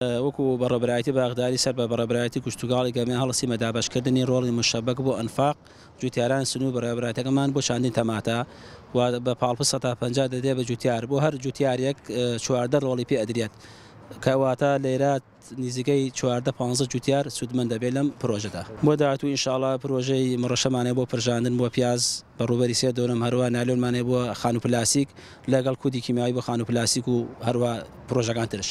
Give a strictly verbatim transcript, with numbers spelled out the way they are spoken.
وەکو بەڕێوەبەرایەتی باخداری سەر بە بەڕێوەبەرایەتی کشتوکاڵی گەرمیان هەڵسیمە دابەشکردنی ڕۆڵی مشەبەک بۆ ئەنفاق جوتیاران سنوور بەڕێوەبەرایەتەکەمان بۆ چاندین تەماتە و بە پاڵپشت سەد پەنجا دەدرێت بە جوتیار، بۆ هەر جوتیارێک چواردە ڕۆڵی پێ ئەدرێت، کەواتە لێرە نزیکەی چواردە پانزە جوتیار سوودمەند دەبێت لەم پرۆژەدا. بۆ داهاتوو ئینشاڵڵا پرۆژەی مڕەشەمانەیە بۆ پرژاندن بۆ پیاز بە ڕووبەری سێ دۆنم، هەروە نالۆنمانەیە بۆ خانوو پلاسیک لەگەڵ کودی کیمیاوی بۆ خانوو پلاسیک و هەروە پرۆژەکان ترش.